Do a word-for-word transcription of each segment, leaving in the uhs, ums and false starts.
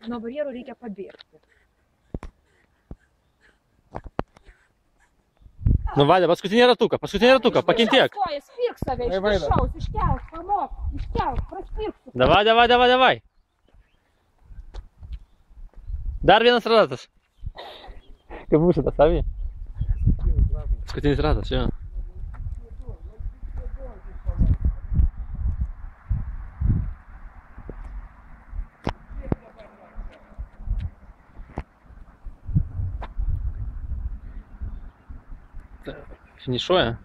Nuo barjerų reikia pabėgti. Nu, Vaida, paskutinį ratuką, paskutinį ratuką, pakentiek. Stoja, spirk save, iš viršaus, iškelk, pamok, iškelk, praspirk. Davai, davai, davai, davai. Dar vienas ratas. Kaip būsi tas, Avi? Paskutinis ratas, jo. Финишуя.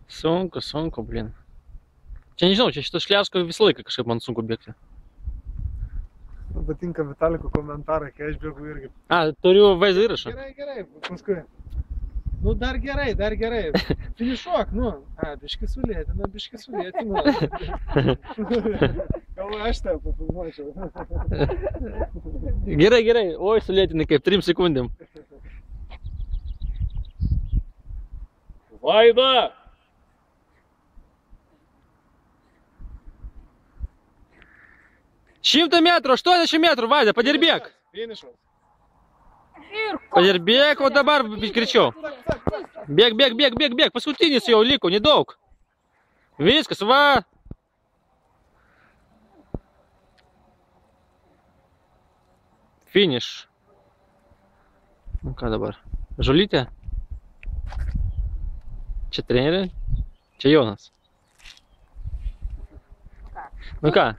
Sunku, sunku, blin. Čia nežinau, čia šitą šliasko visą laiką kažkaip man sunku bėgti. Patinka Vitaliko komentarai, kai aš bėgu irgi. A, turiu vaizdo įrašą. Gerai, gerai, paskui. Nu, dar gerai, dar gerai. Finišuok, nu. A, biški sulėtina, biški sulėtina. Gal aš tave papilnuočiau. Gerai, gerai. Oi, sulėtinai kaip trim sekundėm. Vaida! Šimtą metrų, aštuoniasdešimt metrų, Vaida, padirbėk. Finišas. Padirbėk, o dabar greičiau. Bėg, bėg, bėg, bėg, bėg. Paskutinis jau liko, nedaug. Viskas, va. Finiš. Nu ką dabar? Žulytė? Čia trenerė? Čia Jonas. Nu ką?